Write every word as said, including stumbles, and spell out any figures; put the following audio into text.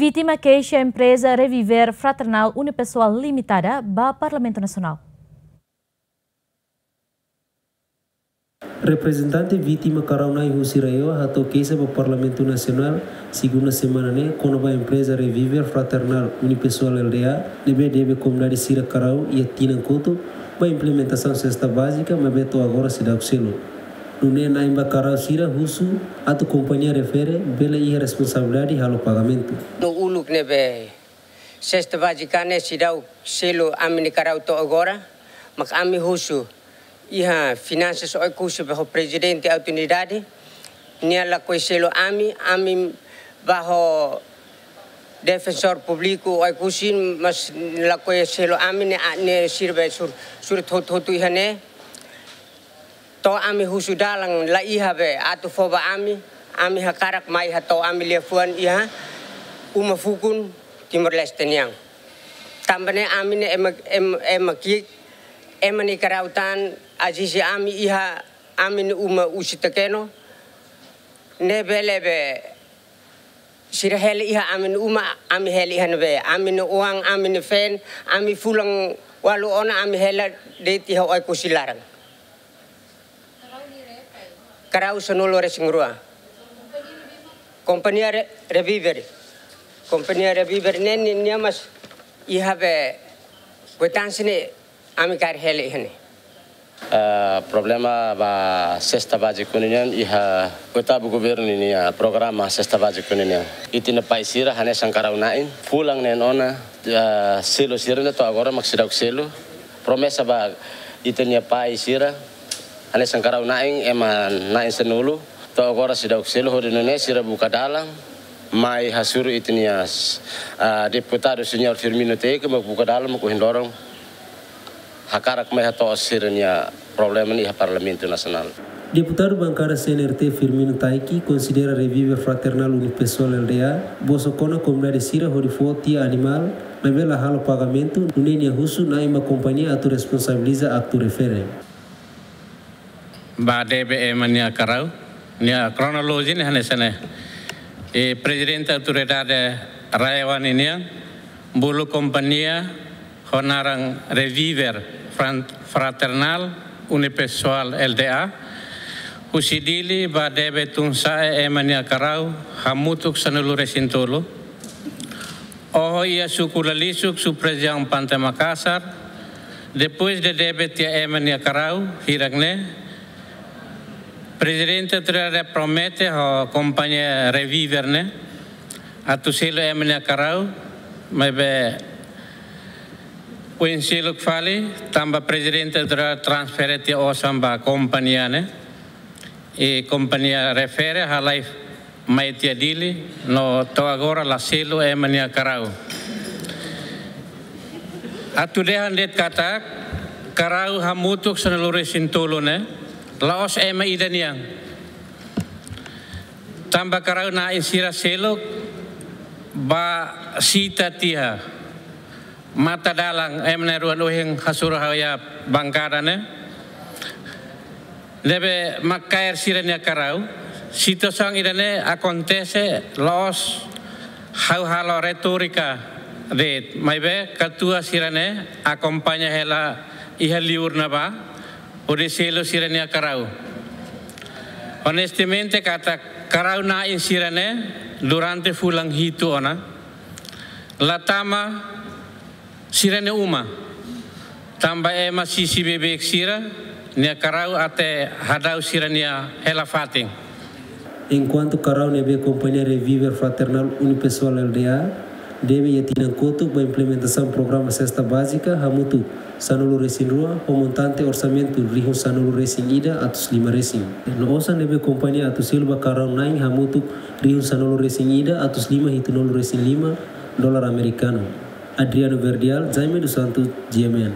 Vítima keixa empreza Reviver Fraternal Unipessoal Limitada ba Parlamentu Nasionál. Reprezentante vítima Karau na'in husi RAEOA hato'o keixa ba Parlamentu Nasionál, segunda semana ne'e, kona-ba empreza Reviver Fraternal Unipessoal L D A, ne'ebé debe komunidade sira Karau iha tinan kotuk ba implementasaun sesta bázika, maibé to'o agora seidauk selu. Nune'e na'in ba Karau sira husu atu kompañia refere bele iha responsabilidade halo pagamentu. No uluk ne'ebé sesta bázika ne'e seidauk selu ami-nia Karau to'o agora, mak ami husu iha Finansas Oekusi ba ho Prezidente Autoridade, nia lakohi selu ami, ami ba ho Defensór Públiku Oekusi, mas lakohi selu ami ne'e, ne'e sira be sur-, surat hotu-hotu iha ne'e. To'o ami husu dalan la iha be atu fó ba ami, ami hakarak mai hato'o ami liafuan iha uma fukun Timor-Leste nian. Tanba ne'e ami ne'e ema, em-, ema ki'ik, ema nia Karau tan, ezije ami iha ami-nia uma husi Tekeno, ne'e bele be sira hela iha ami-nia uma, ami hela iha ne'ebé, ami-nia oan, ami-nia feen, ami fulan ualu ona, ami hela de'it iha Oekusi laran. Karau sanulu-resin-rua. Kompañia Re-, Reviver. Kompañia Reviver ne'e nia, nia mas iha be kuitansi ne'e ami kaer hela iha ne'e. Eh, problema ba sesta bázika ne'e nian iha Oitavu Governu ninia programa sesta bázika ne'e nian. Ita-nia pai sira hanesan Karau na'in, fulan neen ona, eh, selu sira-ne'e to'o agora mak seidauk selu. Promesa ba ita-nia pai sira, hanesan Karau na'in, ema na'in sanulu, to'o agora seidauk selu, hodi nune'e sira buka dalan mai hasoru ita-nia, ah, deputadu señór Firmino Teik, mak buka dalan, mak ohin loron hakarak mai hato'o sira-nia problema ne'e iha Parlamentu Nasionál. Deputadu bankada C N R T Firmino Taiki konsidera Reviver Fraternal Unipessoal L D A bosok ona komunidade sira hodi fó tiha animál, maibé la halo pagamentu, nune'e nia husu na'in ba kompañia atu responsabiliza aktu refere. Ba debe ema nia Karau, nia kronolojia ne'e hanesan ne'e. E Prezidente Autoridade RAEOA ninian bolu kompañia ho naran Reviver Fran-, Fraternal Unipessoal L D A husi Dili ba debe tun-sa'e ema nia Karau hamutuk sanulu-resin-tolu. Oho iha suku Lalisuk, subrejiaun Pante Makasar, depois de debe tiha ema nia Karau hirak ne'e, Prezidente Autoridade promete ho kompañia Reviver ne'e atu selu ema nia Karau, maibé oin seluk fali, tanba Prezidente Autoridade transfere tiha osan ba kompañia ne'e, i kompañia refere halai mai tiha Dili, no to'o agora la selu ema nia Karau. Atu dehan de'it katak Karau hamutuk sanulu-resin-tolu ne'e la'ós ema ida nian. Tanba Karau na'in sira seluk ba sita tiha mata dalan, ema na'in-rua ohin hasoru ha'u iha bankada ne'e, ne'ebé mak kaer sira-nia Karau. Situasaun ida-ne'e akontese la'ós ha'u halo retórika de'it, maibé katuas sira-ne'e akompaña hela iha liur ne'ebá hodi selu sira-nia Karau. Onestamente katak Karau na'in sira-ne'e durante fulan hitu ona la tama sira-nia uma, tanba ema sisi beibeik sira-nia Karau até hadau sira-nia hela-fatin. Enkuantu Karau ne'ebé kompañia Reviver Fraternal Unipessoal L D A debe iha tinan kotuk ba implementasaun programa sesta bázika hamutuk sanulu-resin-rua ho montante orsamentu rihun sanulu-resin-ida atus lima resin. No osan ne'ebé kompañia atu selu ba Karau na'in hamutuk rihun sanulu-resin-ida atus lima hitunulu-resin-lima dolar amerikanu. Adriano Verdial, Jaime dos Santos, G M N.